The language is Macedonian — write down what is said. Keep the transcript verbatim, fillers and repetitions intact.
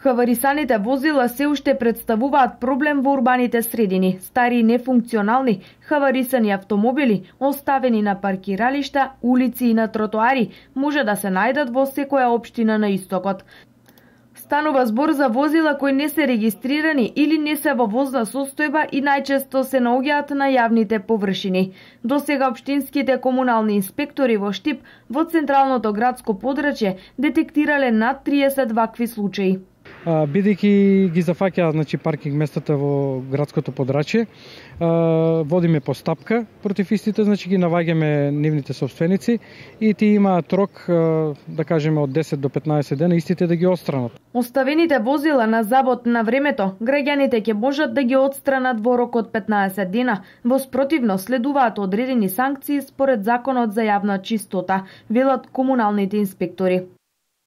Хаварисаните возила се уште представуваат проблем во урбаните средини. Стари и нефункционални хаварисани автомобили, оставени на паркиралишта, улици и на тротоари, може да се најдат во секоја општина на истокот. Станува збор за возила кои не се регистрирани или не се во возна состојба и најчесто се наоѓаат на јавните површини. Досега општинските комунални инспектори во Штип во централното градско подрачје детектирале над триесет вакви случаи. Бидејќи ги зафаќаат, значи, паркинг местата во градското подрачје, водиме постапка против истите, значи ги наваѓаме нивните собственици и тие имаат рок, да кажеме, од десет до петнаесет дена истите да ги отстранат. Оставените возила на забот на времето, граѓаните ќе можат да ги отстранат во рок од петнаесет дена. Во спротивно следуваат одредени санкции според Законот за јавна чистота, велат комуналните инспектори.